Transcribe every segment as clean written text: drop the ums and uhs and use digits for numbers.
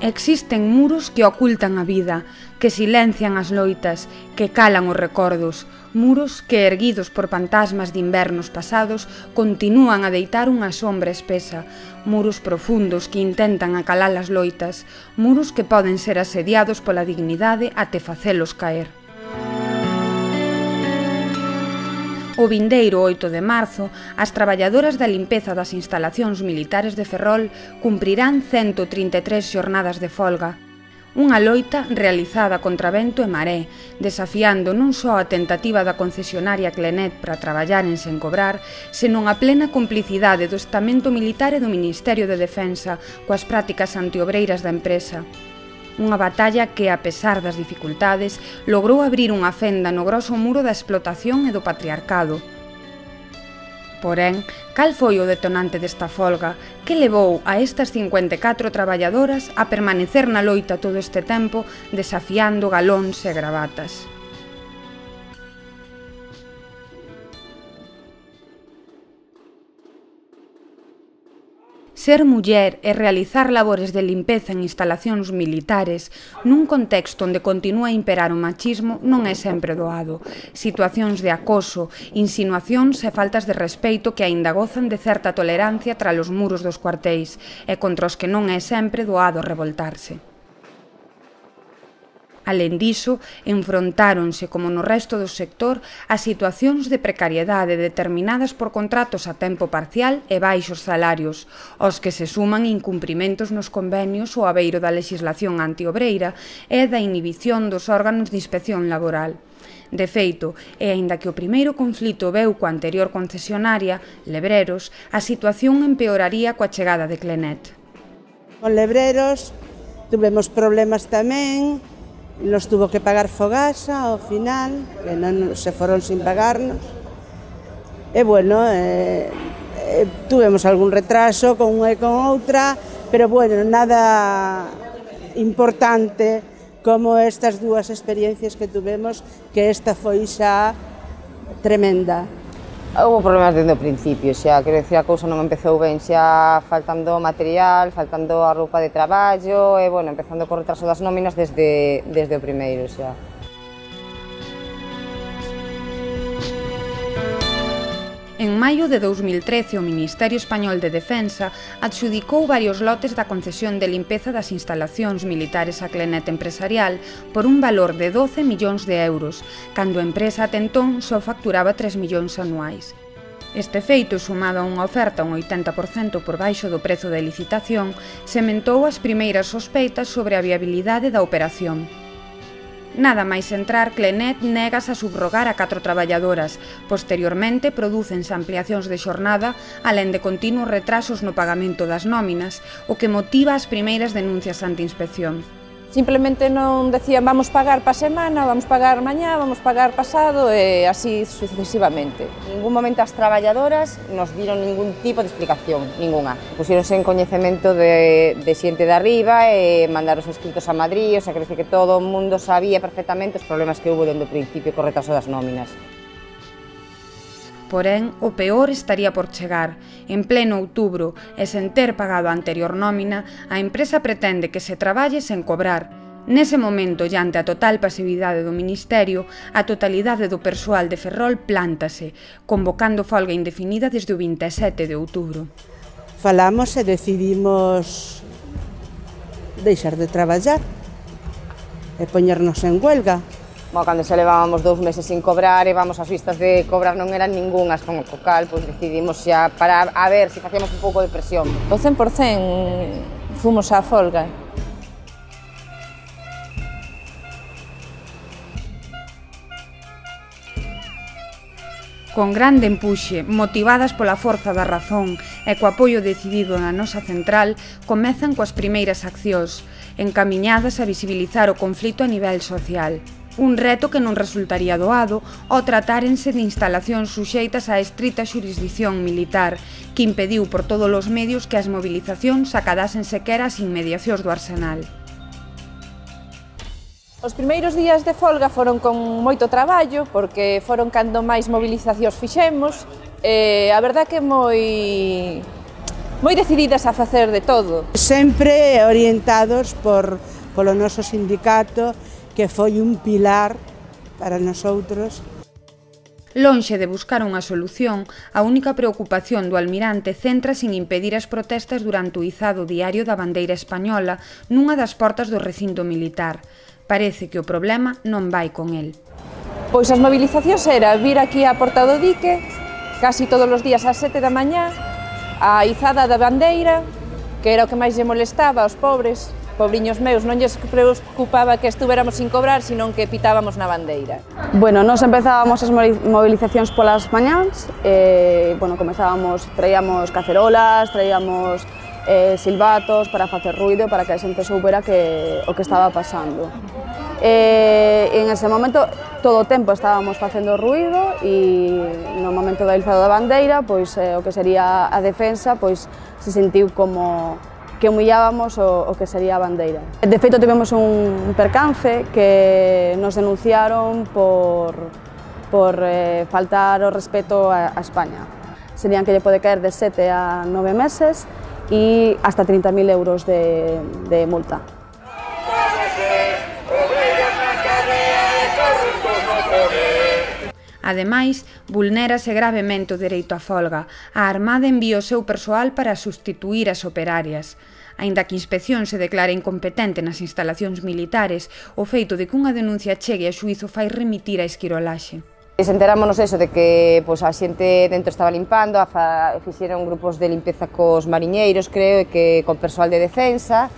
Existen muros que ocultan a vida, que silencian as loitas, que calan os recordos, muros que, erguidos por fantasmas de invernos pasados, continúan a deitar unha sombra espesa, muros profundos que intentan acalar as loitas, muros que poden ser asediados pola dignidade até facelos caer. O vindeiro 8 de marzo, as traballadoras da limpeza das instalacións militares de Ferrol cumprirán 133 xornadas de folga. Unha loita realizada contra vento e maré, desafiando non só a tentativa da concesionaria Clenet para traballaren sen cobrar, senón a plena complicidade do estamento militar e do Ministerio de Defensa coas prácticas antiobreiras da empresa. Unha batalla que, a pesar das dificultades, logrou abrir unha fenda no groso muro da explotación e do patriarcado. Porén, cal foi o detonante desta folga que levou a estas 54 traballadoras a permanecer na loita todo este tempo desafiando galóns e gravatas? Ser muller e realizar labores de limpeza en instalacións militares nun contexto onde continúa a imperar o machismo non é sempre doado. Situacións de acoso, insinuacións e faltas de respeito que aínda gozan de certa tolerancia tras os muros dos cuartéis e contra os que non é sempre doado revoltarse. Alén diso, enfrontáronse, como no resto do sector, a situacións de precariedade determinadas por contratos a tempo parcial e baixos salarios, aos que se suman incumprimentos nos convenios ou abeiro da lexislación antiobreira e da inhibición dos órganos de inspección laboral. De feito, e aínda que o primeiro conflito veu coa anterior concesionaria, Lebreros, a situación empeoraría coa chegada de Clenet. Con Lebreros tuvemos problemas tamén, nos tuvo que pagar Fogasa ao final, que non se foron sin pagarnos. E bueno, tuvemos algún retraso con unha e con outra, pero bueno, nada importante como estas dúas experiencias que tuvemos, que esta foi xa tremenda. Houve problemas desde o principio, xa, quero dicir, a cousa non empezou ben, xa faltando material, faltando a roupa de traballo e, bueno, empezando co retraso das nóminas desde o primeiro, xa. En maio de 2013, o Ministerio Español de Defensa adxudicou varios lotes da concesión de limpeza das instalacións militares a Clenet Empresarial por un valor de 12 millóns de euros, cando a empresa ata entón só facturaba 3 millóns anuais. Este feito, sumado a unha oferta un 80% por baixo do prezo de licitación, sementou as primeiras sospeitas sobre a viabilidade da operación. Nada máis entrar, Clenet negase a subrogar a 4 traballadoras. Posteriormente, prodúcense ampliacións de xornada, alén de continuos retrasos no pagamento das nóminas, o que motiva as primeiras denuncias ante inspección. Simplemente non decían vamos pagar pa semana, vamos pagar mañá, vamos pagar pasado e así sucesivamente. En ningún momento as traballadoras nos diron ningún tipo de explicación, ninguna. Pusieronse en coñecemento de xente de arriba e mandaron os escritos a Madrid, o sea, que todo o mundo sabía perfectamente os problemas que hubo dende o principio co retraso das nóminas. Porén, o peor estaría por chegar. En pleno outubro, e sen ter pagado a anterior nómina, a empresa pretende que se traballe sen cobrar. Nese momento, e ante a total pasividade do Ministerio, a totalidade do persoal de Ferrol plántase, convocando folga indefinida desde o 27 de outubro. Falamos e decidimos deixar de traballar e poñernos en huelga. Bueno, cando xa levábamos 2 meses sin cobrar e vamos as vistas de cobrar non eran ningunhas, con o cal, pois decidimos xa para a ver se facíamos un pouco de presión. O 100% fomos á folga. Con grande empuxe, motivadas pola forza da razón e co apoio decidido na nosa central, comezan coas primeiras accións, encamiñadas a visibilizar o conflito a nivel social. Un reto que non resultaría doado ao tratárense de instalacións suxeitas á estrita xurisdición militar, que impediu por todos os medios que as movilizacións acadasen sequera as inmediacións do Arsenal. Os primeiros días de folga foron con moito traballo, porque foron cando máis movilizacións fixemos, e a verdade que moi decididas a facer de todo. Sempre orientados polo noso sindicato, que foi un pilar para nosotros. Lonxe de buscar unha solución, a única preocupación do almirante centrase en impedir as protestas durante o izado diario da bandeira española nunha das portas do recinto militar. Parece que o problema non vai con el. Pois as mobilizacións era vir aquí á Porta do Dique, casi todos os días ás 7 da mañá, a izada da bandeira, que era o que máis lle molestaba aos pobres, pobriños meus, non lles preocupaba que estuvéramos sin cobrar, senón que pitábamos na bandeira. Bueno, nos empezábamos as movilizacións polas mañáns, traíamos cacerolas, traíamos silbatos para facer ruido, para que a xente soubera o que estaba pasando. En ese momento, todo o tempo estábamos facendo ruido e no momento da izado da bandeira, pois o que sería a defensa, pois se sentiu como que humillábamos o que sería a bandeira. De feito, tivemos un percance que nos denunciaron por faltar o respeto a España. Serían que lle pode caer de 7 a 9 meses e hasta 30.000 euros de multa. Ademais, vulnérase gravemente o dereito á folga. A Armada envía o seu persoal para substituir as operarias. Aínda que a inspección se declara incompetente nas instalacións militares, o feito de que unha denuncia chegue a xuízo fai remitir a esquirolaxe. Enterámonos eso de que a xente dentro estaba limpando, fixeron grupos de limpeza cos mariñeiros, creo, e que con persoal de defensa.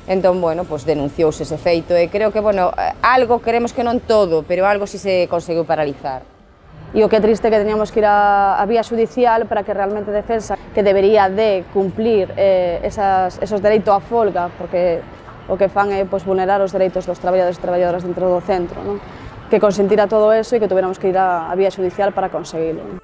Entón, denunciouse ese feito e creo que, algo, queremos que non todo, pero algo si se conseguiu paralizar. E o que é triste que teníamos que ir á vía judicial para que realmente a defensa, que debería de cumplir esos dereitos á folga, porque o que fan é vulnerar os dereitos dos traballadores e traballadoras dentro do centro, non? Que consentira todo eso e que tuviéramos que ir á vía judicial para conseguilo.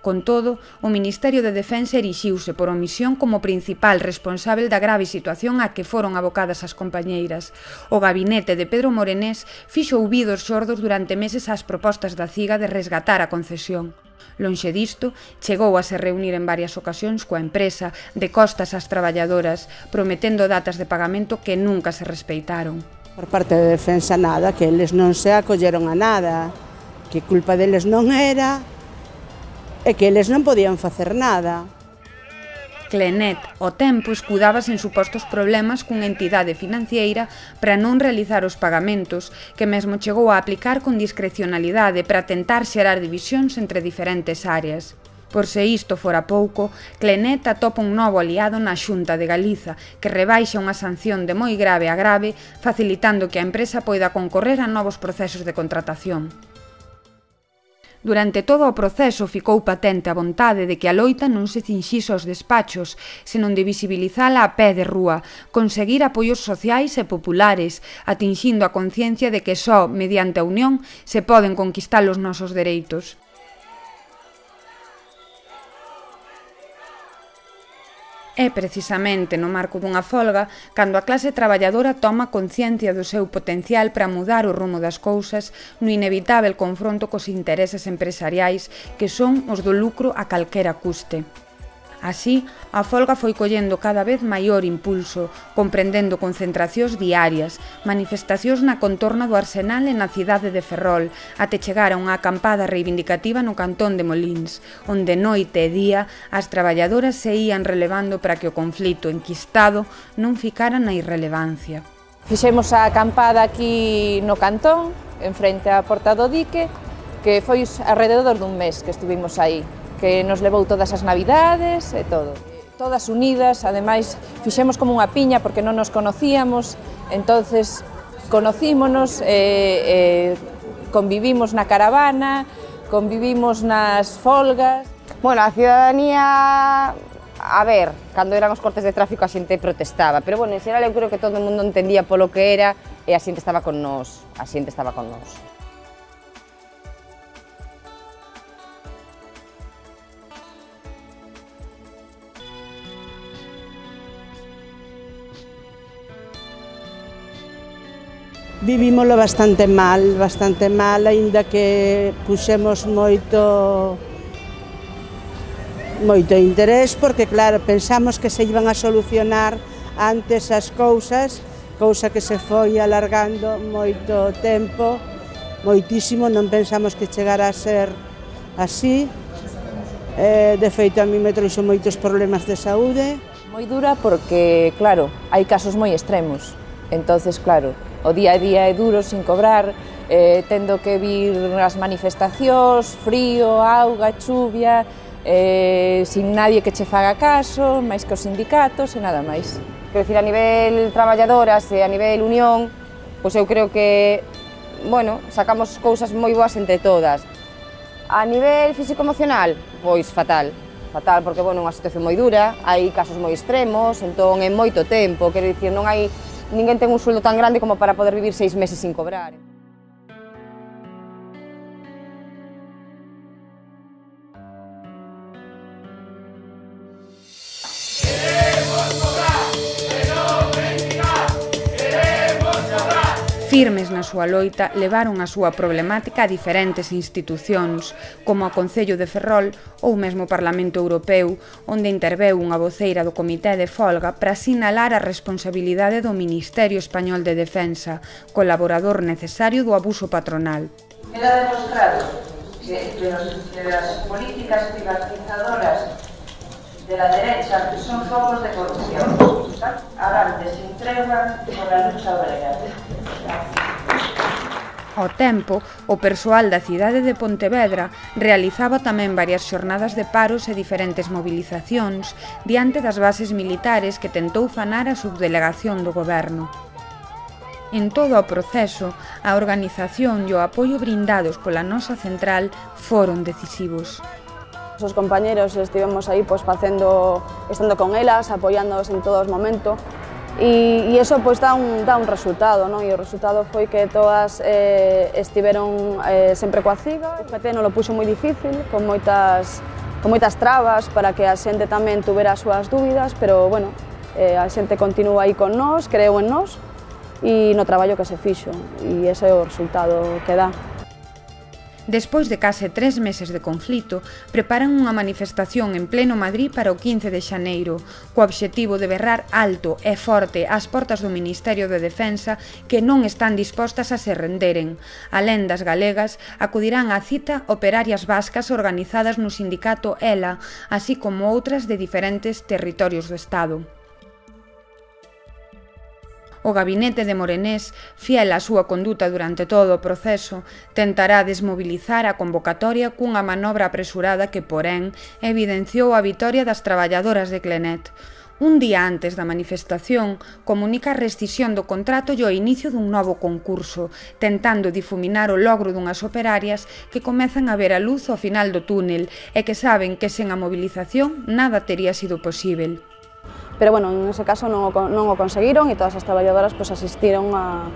Con todo, o Ministerio de Defensa erixiuse por omisión como principal responsável da grave situación a que foron abocadas as compañeiras. O gabinete de Pedro Morenés fixo ouvidos xordos durante meses ás propostas da CIGA de resgatar a concesión. Lonxe disto, chegou a se reunir en varias ocasións coa empresa de costas ás traballadoras, prometendo datas de pagamento que nunca se respeitaron. Por parte de Defensa nada, que eles non se acolleron a nada, que culpa deles non era, e que eles non podían facer nada. Clenet, ao tempo, escudábase en supostos problemas cunha entidade financiera para non realizar os pagamentos, que mesmo chegou a aplicar con discrecionalidade para tentar xerar divisións entre diferentes áreas. Por se isto fora pouco, Clenet atopa un novo aliado na Xunta de Galiza, que rebaixa unha sanción de moi grave a grave, facilitando que a empresa poida concorrer a novos procesos de contratación. Durante todo o proceso ficou patente a vontade de que a loita non se cinxise aos despachos, senón de visibilizala a pé de rúa, conseguir apoios sociais e populares, atinxindo a conciencia de que só mediante a unión se poden conquistar os nosos dereitos. É precisamente no marco dunha folga cando a clase traballadora toma conciencia do seu potencial para mudar o rumo das cousas no inevitável confronto cos intereses empresariais que son os do lucro a calquera custe. Así, a folga foi collendo cada vez maior impulso, comprendendo concentracións diarias, manifestacións na contorna do Arsenal e na cidade de Ferrol, até chegar a unha acampada reivindicativa no cantón de Molins, onde noite e día as traballadoras se ían relevando para que o conflito enquistado non ficara na irrelevancia. Fixemos a acampada aquí no cantón, en frente á Porta do Dique, que foi alrededor dun mes que estuvimos aí, que nos levou todas as navidades e todo. Todas unidas, ademais, fixemos como unha piña porque non nos conocíamos, entonces conocímonos, convivimos na caravana, convivimos nas folgas. Bueno, a ciudadanía, a ver, cando eran os cortes de tráfico a xente protestaba, pero bueno, en xeral eu creo que todo o mundo entendía polo que era e a xente estaba con nós, a xente estaba con nós. Vivímolo bastante mal, aínda que puxemos moito moito interés porque, claro, pensamos que se iban a solucionar antes as cousas, cousa que se foi alargando moito tempo, moitísimo, non pensamos que chegara a ser así. De feito, a mí me trouxo moitos problemas de saúde. Moi dura porque, claro, hai casos moi extremos. Entonces, claro, o día a día é duro, sin cobrar, tendo que vir as manifestacións, frío, auga, chuvia, sin nadie que che faga caso, máis que os sindicatos e nada máis. Quero dicir, a nivel traballadoras e a nivel unión, pois eu creo que, bueno, sacamos cousas moi boas entre todas. A nivel físico-emocional, pois fatal. Fatal porque, bueno, é unha situación moi dura, hai casos moi extremos, entón é moito tempo, quero dicir, non hai, ninguén ten un sueldo tan grande como para poder vivir 6 meses sin cobrar. Firmes na súa loita, levaron a súa problemática a diferentes institucións, como o Concello de Ferrol ou mesmo o Parlamento Europeo, onde interveu unha voceira do Comité de Folga para sinalar a responsabilidade do Ministerio Español de Defensa, colaborador necesario do abuso patronal. Queda demostrado que las políticas privatizadoras de la derecha son focos de corrupción, avantes sin tregua por la lucha obrera. Ao tempo, o persoal da cidade de Pontevedra realizaba tamén varias xornadas de paros e diferentes mobilizacións diante das bases militares que tentou fanar a subdelegación do goberno. En todo o proceso, a organización e o apoio brindados pola nosa central foron decisivos. Os compañeros estivemos aí estando con elas, apoiándoos en todos os momentos e iso dá un resultado, non? E o resultado foi que todas estiveron sempre coa CIGA. O PT non lo puxo moi difícil, con moitas trabas para que a xente tamén tuvera as súas dúbidas, pero, bueno, a xente continúa aí con nós, creu en nós e no traballo que se fixo, e ese é o resultado que dá. Despois de case 3 meses de conflito, preparan unha manifestación en pleno Madrid para o 15 de xaneiro, co obxectivo de berrar alto e forte ás portas do Ministerio de Defensa que non están dispostas a se renderen. Alén das galegas, acudirán á cita operarias vascas organizadas no sindicato ELA, así como outras de diferentes territorios do Estado. O gabinete de Morenés, fiel á súa conduta durante todo o proceso, tentará desmobilizar a convocatoria cunha manobra apresurada que, porén, evidenciou a vitoria das traballadoras de Clenet. Un día antes da manifestación, comunica a rescisión do contrato e o inicio dun novo concurso, tentando difuminar o logro dunhas operarias que comezan a ver a luz ao final do túnel e que saben que sen a mobilización nada tería sido posível. Pero, bueno, en ese caso non o conseguiron e todas as traballadoras asistiron a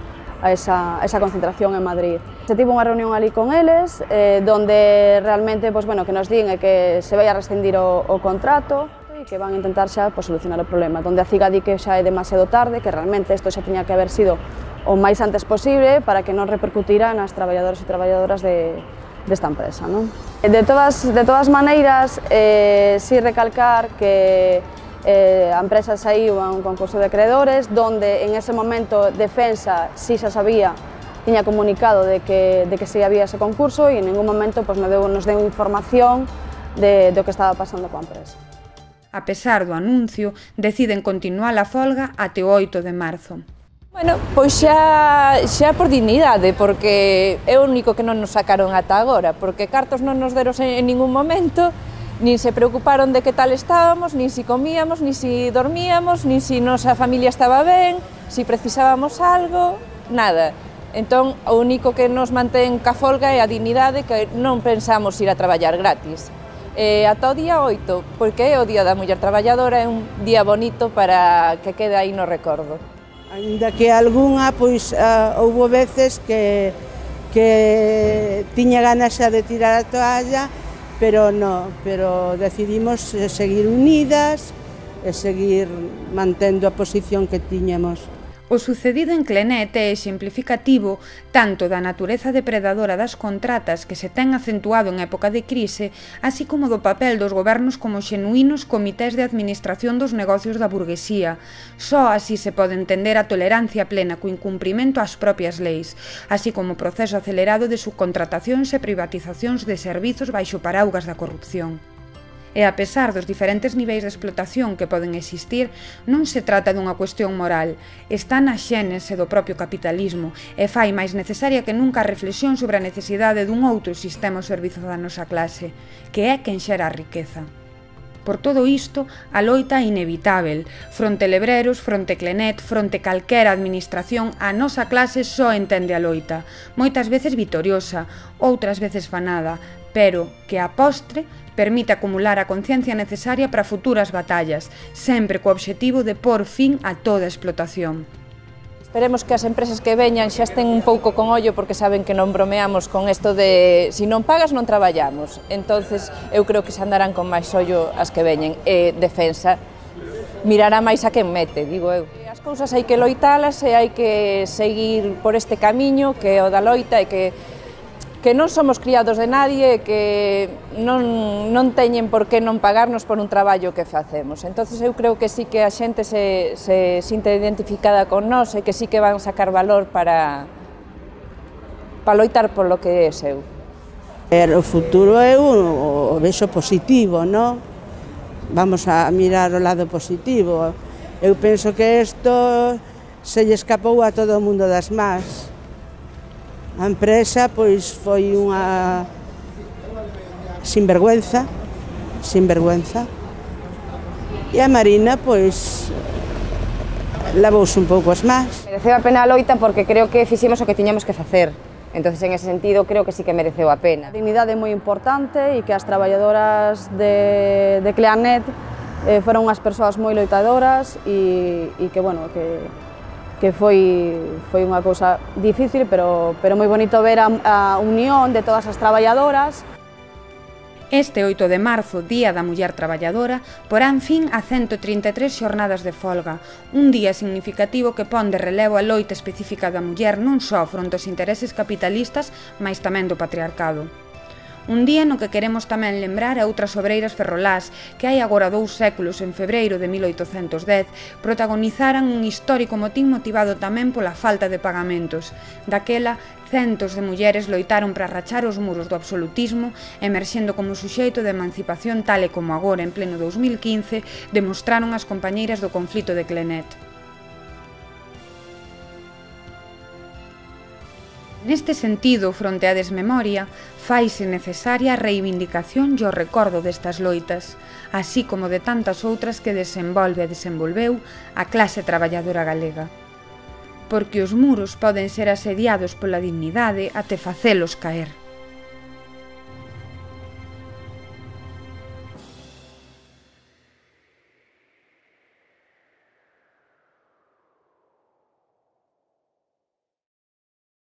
esa concentración en Madrid. Se tivo unha reunión ali con eles, donde realmente que nos din que se vai a rescindir o contrato e que van a intentar xa solucionar o problema, donde a CIGA di que xa é demasiado tarde, que realmente isto xa tiña que haber sido o máis antes posible para que non repercutira nas traballadores e traballadoras desta empresa, non? De todas maneiras, si recalcar que a empresa saiu a un concurso de acreedores, donde en ese momento Defensa si xa sabía, tiña comunicado de que si había ese concurso e en ningún momento nos deu información do que estaba pasando coa empresa. A pesar do anuncio, deciden continuar a folga até o 8 de marzo. Bueno, pois xa por dignidade, porque é o único que non nos sacaron ata agora, porque cartos non nos deron en ningún momento, nin se preocuparon de que tal estábamos, nin si comíamos, nin si dormíamos, nin si nosa familia estaba ben, si precisábamos algo, nada. Entón, o único que nos mantén ca folga é a dignidade, que non pensamos ir a traballar gratis. Ata o día 8, porque é o Día da Muller Traballadora, é un día bonito para que quede aí no recordo. Ainda que algunha, houbo veces que tiña ganas xa de tirar a toalla, pero decidimos seguir unidas e seguir mantendo a posición que tiñamos. O sucedido en Clenet é exemplificativo tanto da natureza depredadora das contratas que se ten acentuado en época de crise, así como do papel dos gobernos como xenuínos comités de administración dos negocios da burguesía. Só así se pode entender a tolerancia plena co incumprimento ás propias leis, así como o proceso acelerado de subcontratacións e privatizacións de servizos baixo paraugas da corrupción. E a pesar dos diferentes niveis de explotación que poden existir, non se trata dunha cuestión moral, está na xénese do propio capitalismo e fai máis necesaria que nunca a reflexión sobre a necesidade dun outro sistema ao servizo da nosa clase, que é quen xera a riqueza. Por todo isto, a loita é inevitável. Fronte Lebreros, fronte Clenet, fronte calquera administración, a nosa clase só entende a loita, moitas veces vitoriosa, outras veces fanada, pero que a postre permite acumular a conciencia necesaria para futuras batallas, sempre co obxectivo de por fin a toda explotación. Esperemos que as empresas que veñan xa estén un pouco con ollo porque saben que non bromeamos con isto de si non pagas non traballamos. Entonces eu creo que se andarán con máis ollo as que veñen e defensa mirará máis a quen mete, digo eu. As cousas hai que loitalas e hai que seguir por este camiño que é o da loita e que non somos criados de nadie, que non teñen por que non pagarnos por un traballo que facemos. Entonces eu creo que sí que a xente se sinta identificada con nós e que sí que van sacar valor para loitar polo que é seu. O futuro eu o vexo positivo, non? Vamos a mirar o lado positivo. Eu penso que isto se lle escapou a todo o mundo das más. A empresa pois foi unha sinvergüenza, e a Marina pois lavouse un pouco as más. Mereceu a pena a loita porque creo que fixemos o que tiñamos que facer. Entonces, en ese sentido, creo que sí que mereceu a pena. A dignidade é moi importante e que as traballadoras de Clenet foron unhas persoas moi loitadoras e que, bueno, que foi unha cousa difícil, pero moi bonito ver a unión de todas as traballadoras. Este 8 de marzo, Día da Muller Traballadora, porán fin a 133 xornadas de folga, un día significativo que pon de relevo a loita específica da muller non só fronte aos intereses capitalistas, mais tamén do patriarcado. Un día no que queremos tamén lembrar a outras obreiras ferrolás que hai agora 2 séculos, en febreiro de 1810, protagonizaran un histórico motín motivado tamén pola falta de pagamentos. Daquela, centos de mulleres loitaron para rachar os muros do absolutismo, emerxendo como suxeito de emancipación tal e como agora, en pleno 2015, demostraron as compañeiras do conflito de Clenet. Neste sentido, fronte á desmemoria, faise necesaria a reivindicación e o recordo destas loitas, así como de tantas outras que desenvolve e desenvolveu a clase traballadora galega. Porque os muros poden ser asediados pola dignidade até facelos caer.